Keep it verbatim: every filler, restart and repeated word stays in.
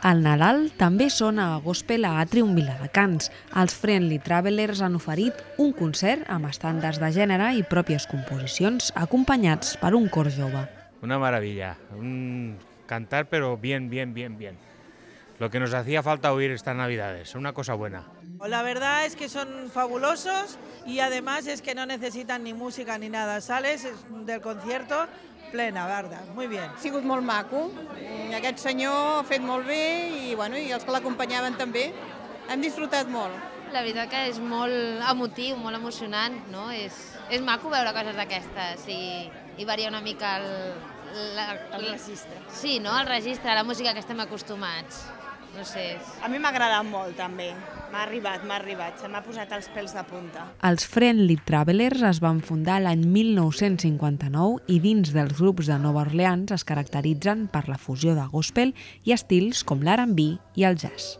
El Nadal també sona a gospel a Atrium Viladecans. Els Friendly Travelers han oferit un concert amb estàndards de gènere i pròpies composicions, acompanyats per un cor jove. Una maravilla, un cantar pero bien, bien, bien, bien. Lo que nos hacía falta oír estas Navidades, una cosa buena. La verdad es que son fabulosos y además es que no necesitan ni música ni nada. Sales del concierto plena, verdad, muy bien. Ha sigut molt maco, aquest senyor ha fet molt bé i, bueno, i els que l'acompanyaven també. Hem disfrutat molt. La veritat que és molt emotiu, molt emocionant, no? És, és maco veure coses d'aquestes i, i variar una mica el, la, El registre. Sí, no? El registre, la música que estem acostumats. No sé. A mi m'ha agradat molt, també. M'ha arribat, m'ha arribat. Se m'ha posat els pèls de punta. Els Friendly Travelers es van fundar l'any mil nou-cents cinquanta-nou i dins dels grups de Nova Orleans es caracteritzen per la fusió de gospel i estils com l'R and B i el jazz.